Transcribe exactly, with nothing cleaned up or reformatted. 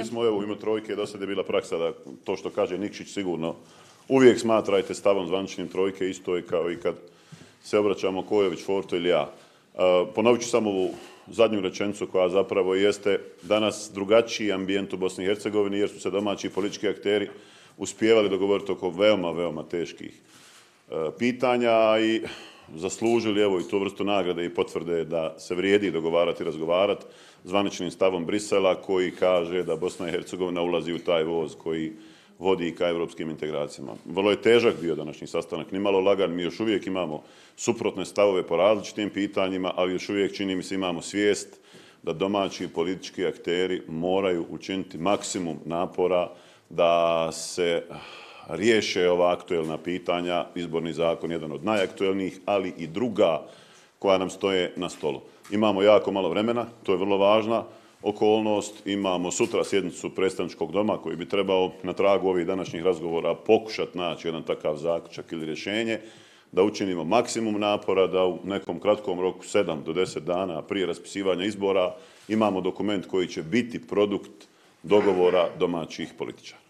Mi smo evo u ime trojke, do sada je bila praksa da to što kaže Nikšić sigurno uvijek smatrajte stavom zvaničnim trojke, isto je kao i kad se obraćamo Kojović, Forto ili ja. Ponovit ću samo ovu zadnju rečenicu koja zapravo jeste danas drugačiji ambijent u Bosni i Hercegovini jer su se domaći politički akteri uspijevali dogovoriti oko veoma, veoma teških pitanja i zaslužili evo i tu vrstu nagrade i potvrde da se vrijedi dogovarati i razgovarati zvaničnim stavom Brisela koji kaže da Bosna i Hercegovina ulazi u taj voz koji vodi ka europskim integracijama. Vrlo je težak bio današnji sastanak, nimalo lagan, mi još uvijek imamo suprotne stavove po različitim pitanjima, ali još uvijek čini mi se imamo svijest da domaći politički akteri moraju učiniti maksimum napora da se riješe ova aktuelna pitanja, izborni zakon jedan od najaktuelnijih, ali i druga koja nam stoje na stolu. Imamo jako malo vremena, to je vrlo važna okolnost. Imamo sutra sjednicu predstavničkog doma koji bi trebao na tragu ovih današnjih razgovora pokušati naći jedan takav zaključak ili rješenje, da učinimo maksimum napora da u nekom kratkom roku, sedam do deset dana prije raspisivanja izbora, imamo dokument koji će biti produkt dogovora domaćih političara.